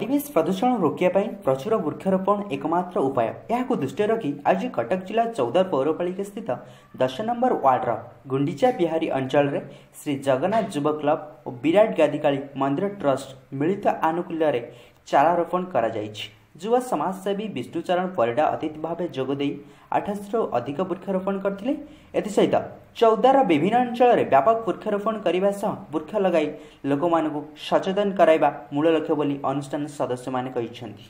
ପରିବେଶ ପ୍ରଦୂଷଣ ରୋକିବା ପାଇଁ ପ୍ରଚୁର ବୃକ୍ଷରୋପଣ ଏକମାତ୍ର ଉପାୟ। ଏହାକୁ ଦୃଷ୍ଟିରେ ରଖି ଆଜି କଟକ ଜିଲ୍ଲା ଚୌଦ୍ୱାର ପୌରପାଳିକା ସ୍ଥିତ 10 ନମ୍ବର ୱାର୍ଡର ଗୁଣ୍ଡିଚା ବିହାରୀ ଅଞ୍ଚଳରେ ଶ୍ରୀ ଜଗନ୍ନାଥ ଯୁବ କ୍ଲବ ଓ ବିରାଟ ଗାଦିକାଳୀ ମନ୍ଦିର ଟ୍ରଷ୍ଟ ମିଳିତ ଆନୁକୂଲ୍ୟରେ ଚାରା ରୋପଣ କରାଯାଇଛି। ଯୁବ ସମାଜସେବୀ ବିଷ୍ଣୁଚରଣ ପରିଡ଼ା ଅତିଥି ଭାବେ ଯୋଗଦେଇ 800ରୁ ଅଧିକ ବୃକ୍ଷରୋପଣ କରିଥିଲେ। ଏଥିସହିତ ଚୌଦ୍ୱାରର ବିଭିନ୍ନ ଅଞ୍ଚଳରେ ବ୍ୟାପକ ବୃକ୍ଷରୋପଣ କରିବା ସହ ବୃକ୍ଷ ଲଗାଇ ଲୋକମାନଙ୍କୁ ସଚେତନ କରାଇବା ମୂଳ ଲକ୍ଷ୍ୟ ବୋଲି ଅନୁଷ୍ଠାନ ସଦସ୍ୟମାନେ କହିଛନ୍ତି।